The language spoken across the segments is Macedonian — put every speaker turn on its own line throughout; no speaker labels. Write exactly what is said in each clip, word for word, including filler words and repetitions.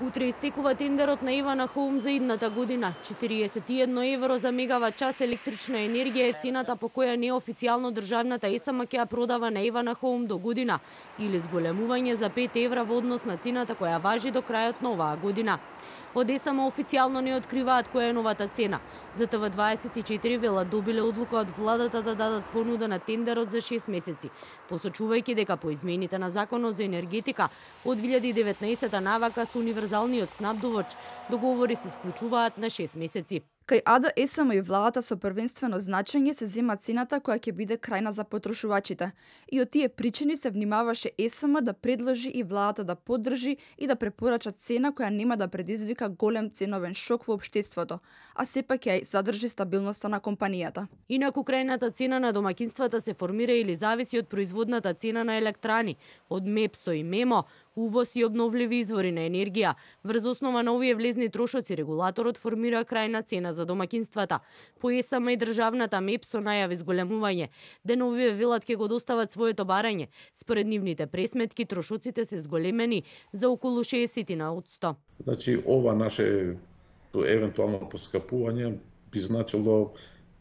Утре истекува тендерот на Евана Хоум за идната година. четириесет и едно евро за мегават час електрична енергија е цената по која неофицијално државната ЕСМ ќе ја продава на Евана Хоум до година, или зголемување за пет евра во однос на цената која важи до крајот на оваа година. Од ЕСМ официјално не откриваат која е новата цена. За Т В дваесет и четири велат добиле одлука од владата да дадат понуда на тендерот за шест месеци, посочувајќи дека по измените на Законот за енергетика од две илјади и деветнаесета навака со универзалниот снабдувач договори се склучуваат на шест месеци.
Кај А Д Е С М и владата со првенствено значење се зема цената која ќе биде крајна за потрошувачите. И од тие причини се внимаваше Е С М да предложи и владата да поддржи и да препорача цена која нема да предизвика голем ценовен шок во општеството, а сепак ќе задржи стабилноста на компанијата.
Инаку крајната цена на домаќинствата се формира или зависи од производната цена на електрани, од МЕПСО и МЕМО, увоз и обновливи извори на енергија. Врз основа на овие влезни трошоци регулаторот формира крајна цена за домаќинствата. По Е С М и државната МЕПСО најави зголемување. Деновиве велат ќе го достават своето барање. Според нивните пресметки трошоците се зголемени за околу шеесет одсто.
Значи ова наше евентуално поскапување би значило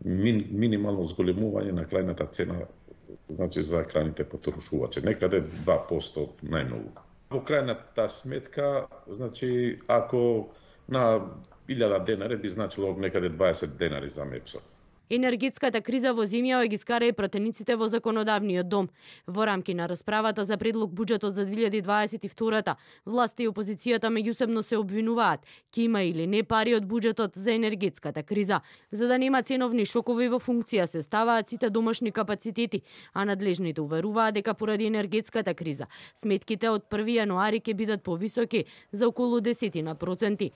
мин, минимално зголемување на крајната цена, значи за крајните потрошувачи, некаде два проценти најмногу. Во крајната сметка, значи ако на илјада денари би значило некаде дваесет денари за МЕПСО.
Енергетската криза во земјава ги скара и пратениците во законодавниот дом. Во рамки на расправата за предлог буџетот за две илјади дваесет и втора, власта и опозицијата меѓусебно се обвинуваат ќе има или не пари од буџетот за енергетската криза. За да нема ценовни шокови во функција се ставаат сите домашни капацитети, а надлежните уверуваат дека поради енергетската криза сметките од први јануари ќе бидат повисоки за околу десет проценти.